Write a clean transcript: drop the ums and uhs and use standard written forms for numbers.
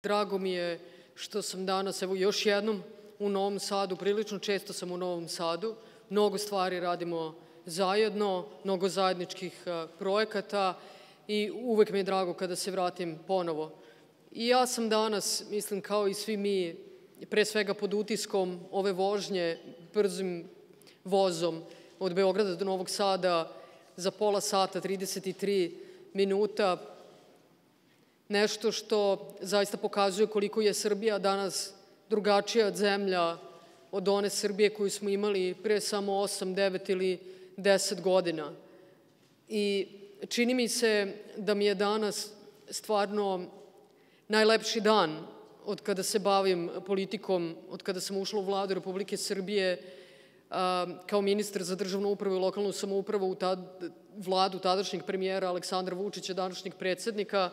Drago mi je što sam danas, evo još jednom, u Novom Sadu. Prilično često sam u Novom Sadu. Mnogo stvari radimo zajedno, mnogo zajedničkih projekata i uvek mi je drago kada se vratim ponovo. I ja sam danas, mislim kao i svi mi, pre svega pod utiskom ove vožnje brzim vozom od Beograda do Novog Sada za pola sata, 33 minuta, nešto što zaista pokazuje koliko je Srbija danas drugačija zemlja od one Srbije koju smo imali pre samo 8, 9 ili 10 godina. I čini mi se da mi je danas stvarno najlepši dan od kada se bavim politikom, od kada sam ušla u Vladu Republike Srbije kao ministar za državnu upravu i lokalnu samoupravu u Vladu tadašnjeg premijera Aleksandra Vučića, današnjeg predsednika.